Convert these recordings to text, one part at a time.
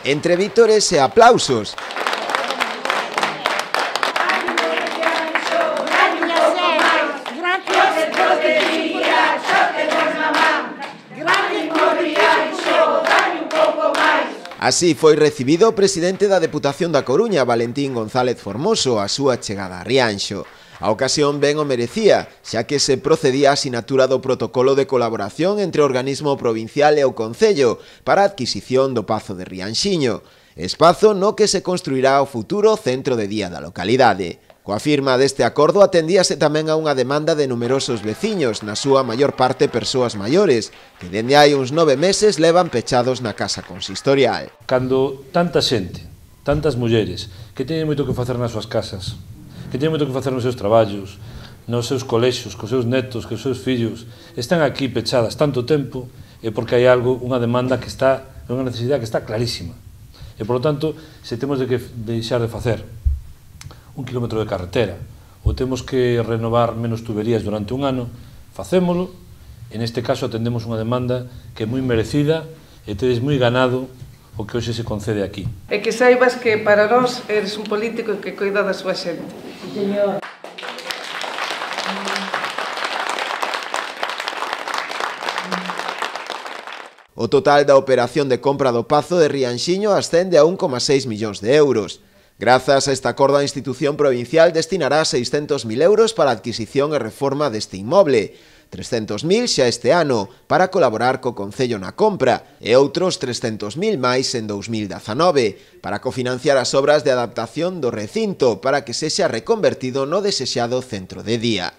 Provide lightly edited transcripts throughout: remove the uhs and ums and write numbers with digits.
Entre vítores e aplausos. Así foi recibido o presidente da Deputación da Coruña, Valentín González Formoso, a súa chegada a Rianxo. A ocasión ben o merecía, xa que se procedía a sinatura do protocolo de colaboración entre o organismo provincial e o Concello para a adquisición do Pazo de Rianxiño, espazo no que se construirá o futuro centro de día da localidade. Coa firma deste acordo atendíase tamén a unha demanda de numerosos veciños, na súa maior parte persoas maiores, que dende hai uns 9 meses levan pechados na casa consistorial. Cando tanta xente, tantas mulleres, que teñen moito que facer nas súas casas, que teñen moito que facer nos seus traballos, nos seus colexios, cos seus netos, cos seus fillos, están aquí pechadas tanto tempo, é porque hai algo, unha demanda que está, unha necesidade que está clarísima. E, por lo tanto, se temos de que deixar de facer 1 kilómetro de carretera ou temos que renovar menos tuberías durante un ano, facémolo. En este caso atendemos unha demanda que é moi merecida e tedes moi ganado o que hoxe se concede aquí. E que saibas que para nós eres un político que cuida da súa xente. Señor. O total da operación de compra do Pazo de Rianxiño ascende a 1,6 millóns de euros. Grazas a este acordo, a institución provincial destinará 600.000 euros para a adquisición e reforma deste inmoble, 300.000 xa este ano para colaborar co Concello na compra e outros 300.000 máis en 2019 para cofinanciar as obras de adaptación do recinto para que sexa reconvertido no desexado centro de día.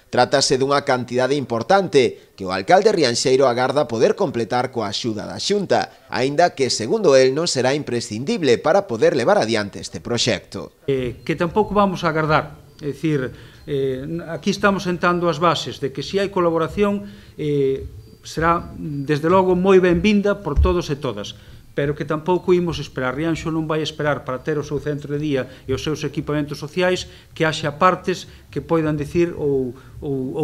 Trátase dunha cantidade importante que o alcalde rianxeiro agarda poder completar coa axuda da Xunta, aínda que, segundo el, non será imprescindible para poder levar adiante este proxecto. Que tampouco vamos a agardar, é dicir, aquí estamos sentando as bases de que se hai colaboración será, desde logo, moi benvinda por todos e todas, pero que tampouco imos esperar. Rianxo non vai esperar para ter o seu centro de día e os seus equipamentos sociais que haxa partes que poidan dicir ou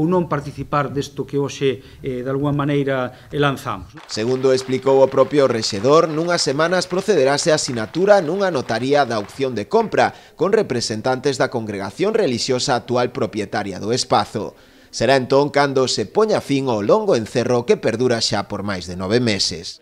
non participar desto que hoxe, de alguma maneira, lanzamos. Segundo explicou o propio rexedor, nunhas semanas procederase a sinatura nunha notaría da opción de compra con representantes da congregación relixiosa actual propietaria do espazo. Será entón cando se poña fin ao longo encerro que perdura xa por máis de 9 meses.